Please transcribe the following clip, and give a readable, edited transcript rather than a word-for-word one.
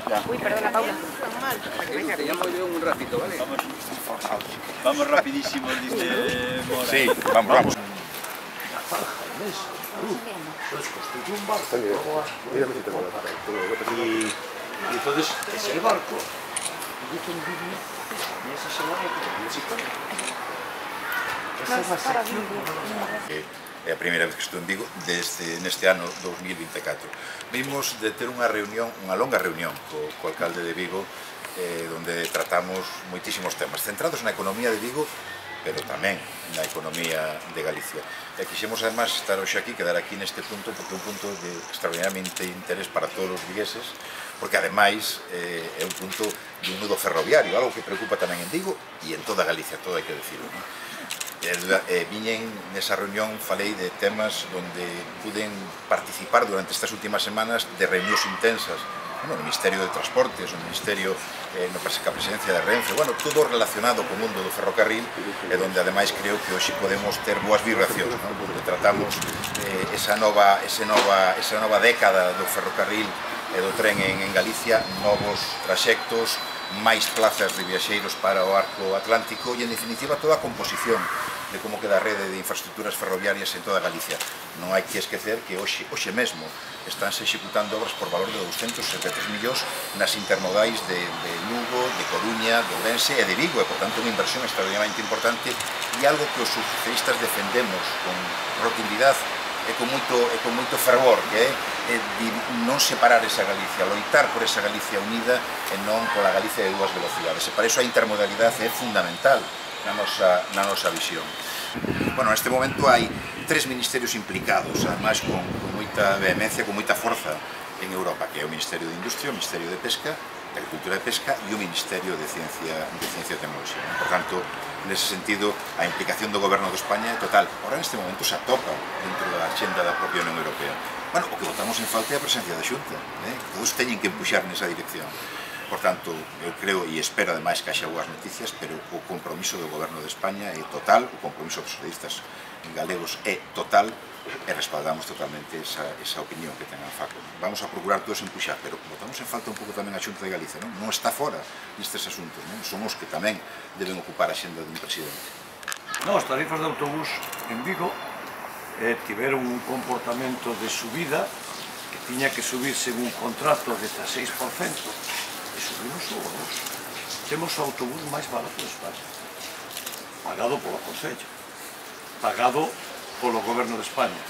Uy, perdona, Paula. Te llamo yo un ratito, ¿vale? Vamos rapidísimo, dice Mora. Sí, vamos. Y entonces ese barco É a primeira vez que estou en Vigo neste ano 2024. Vimos de ter unha longa reunión co alcalde de Vigo, onde tratamos moitísimos temas centrados na economía de Vigo, pero tamén na economía de Galicia. E quixemos, además, estar hoxe aquí, quedar aquí neste punto, porque é un punto de extraordinariamente interés para todos os vigueses, porque, ademais, é un punto de un nudo ferroviario, algo que preocupa tamén en Vigo e en toda Galicia, todo hai que decirlo, non? Viñen nesa reunión, falei de temas onde puden participar durante estas últimas semanas de reunións intensas no Ministerio de Transportes, no Ministerio na presidencia de Renfe, todo relacionado co mundo do ferrocarril, e onde ademais creo que hoxe podemos ter boas vibracións, porque tratamos esa nova década do ferrocarril e do tren en Galicia, novos traxectos, máis plazas de viaxeiros para o arco atlántico e, en definitiva, toda a composición de como queda a rede de infraestructuras ferroviarias en toda Galicia. Non hai que esquecer que hoxe mesmo estánse executando obras por valor de 273 millóns nas intermodais de Lugo, de Coruña, de Ourense e de Vigo, e, por tanto, unha inversión extraordinariamente importante e algo que os socialistas defendemos con rotundidade e con moito fervor, que é non separar esa Galicia, loitar por esa Galicia unida e non pola Galicia de dúas velocidades. E para iso a intermodalidade é fundamental na nosa visión. Neste momento hai 3 ministerios implicados, ademais con moita vehemencia, con moita forza en Europa, que é o Ministerio de Industria, o Ministerio de Pesca, de Agricultura e Pesca e o Ministerio de Ciencia e Tecnoloxía. Por tanto, nese sentido, a implicación do Goberno de España é total. Ahora, neste momento, se atopa dentro da axenda da propia Unión Europea. O que votamos en falta é a presencia da Xunta. Todos teñen que empuxar nesa dirección. Por tanto, eu creo e espero, ademais, que haxa boas noticias, pero o compromiso do Goberno de España é total, o compromiso dos socialistas galegos é total, e respaldamos totalmente esa opinión que ten a FACO. Vamos a procurar todos empuxar, pero botamos en falta un pouco tamén a Xunta de Galicia, non está fora nestes asuntos, son os que tamén deben ocupar a xenda dun presidente. As tarifas de autobús en Vigo tiveron un comportamento de subida que tiña que subir según contrato de 6%, e subimos o 2%. Temos o autobús máis barato de España, pagado polo Concello, pagado polo Goberno de España.